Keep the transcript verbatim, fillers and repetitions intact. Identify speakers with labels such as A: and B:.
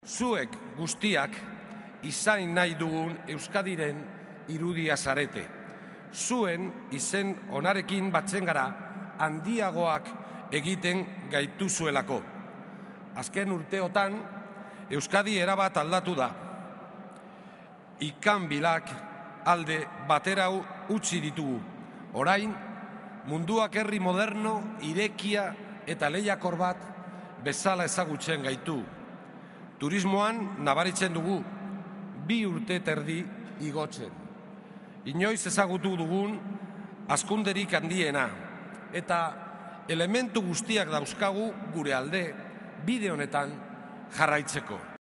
A: Zuek guztiak izain nahi dugun Euskadiren irudia zarete. Zuen izen onarekin batzen gara handiagoak egiten gaituzuelako. Azken urteotan Euskadi erabat aldatu da. Ikanbilak alde batera utzi ditugu. Orain, munduak herri moderno, irekia eta lehiakor bat bezala ezagutzen gaitu. Turismoan nabaritzen dugu, bi urte terdi igotzen. Inoiz ezagutu dugun hazkunderik handiena, eta elementu guztiak dauzkagu gure alde bide honetan jarraitzeko.